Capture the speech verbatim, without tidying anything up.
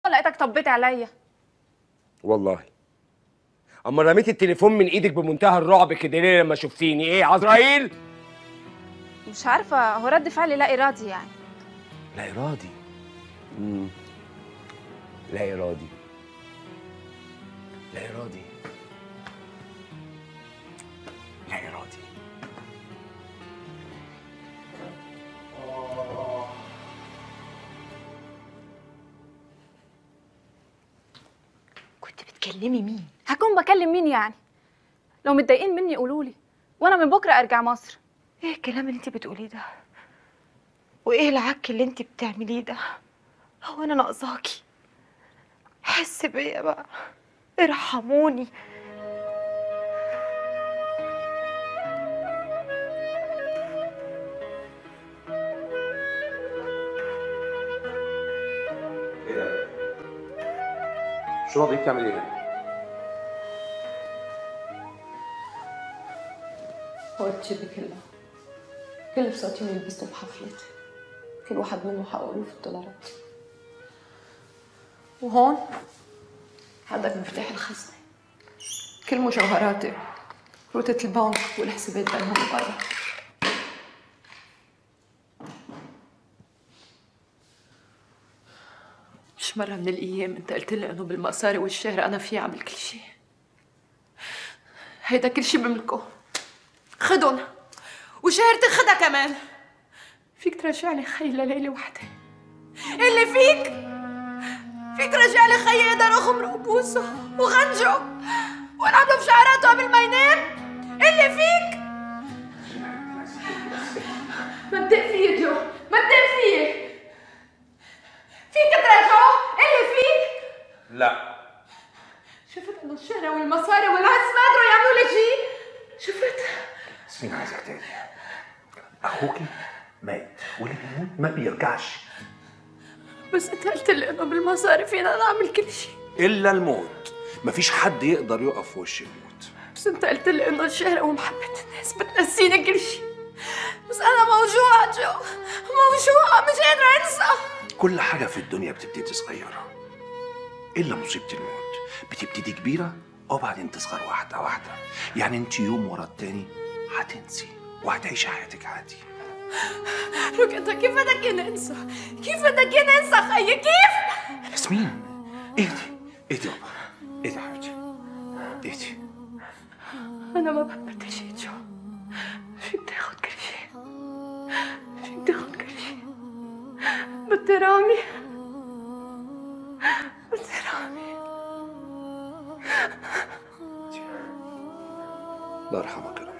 لقيتك طبيت عليا. والله اما رميت التليفون من ايدك بمنتهى الرعب كده ليه لما شفتيني؟ ايه عزرائيل؟ مش عارفه، هو رد فعلي لا ارادي يعني. لا ارادي؟ امم لا ارادي لا ارادي لا ارادي. كنت بتكلمي مين؟ هكون بكلم مين يعني؟ لو متضايقين مني قولوا لي وانا من بكره ارجع مصر. ايه الكلام اللي انت بتقوليه ده؟ وايه العك اللي انت بتعمليه ده؟ هو انا ناقصاكي؟ حس بيا بقى، ارحموني. ايه ده؟ الشنط دي بتعمل ايه؟ هو الجيب كله كل فساتين لبسته بحفلتي، كل واحد منه حقه ألوف الدولارات. وهون هذاك مفتاح الخزنة، كل مجوهراتي، روتة البنك والحسابات بينهم برا. مش مرة من الأيام أنت قلت لي إنه بالمصاري والشهرة أنا فيي أعمل كل شيء. هيدا كل شيء بملكه، خدن وشهرتي خدها كمان. فيك ترجعني خيي لليلة وحدة؟ اللي فيك فيك ترجع لي خيي يقدر اخمره وبوسه وغنجه ونعمله بشعراته قبل ما ينام؟ اللي فيك ما تدق فيي جو، ما تدق فيي. فيك ترجعه؟ اللي فيك لا. شفت انه الشهرة والمصاري والعز ما قدروا يعملوا لي شيء؟ شفت؟ ياسمين عايزك تاني، اخوكي مات واللي بيموت ما بيرجعش. بس انت قلت لي انه بالمصاري فينا نعمل كل شيء الا الموت، مفيش حد يقدر يقف في وش الموت. بس انت قلت لي انه الشهرة ومحبة الناس بتنسيني كل شيء. بس انا موجوعة جو، موجوعة مش قادرة انسى. كل حاجة في الدنيا بتبتدي صغيرة الا مصيبة الموت، بتبتدي كبيرة وبعدين تصغر واحدة واحدة. يعني انت يوم ورا التاني هتنسي وهتعيشي حياتك عادي. لوك انت كيف بدك ننسى؟ كيف بدك ننسى خيي؟ كيف؟ ياسمين اهدي اهدي يابا، اهدي يا حبيبتي اهدي. انا ما بحب شيء جو، فيك تاخد كل شيء، فيك تاخد كل شيء. بدي رامي، بدي رامي. الله يرحمك يا رب.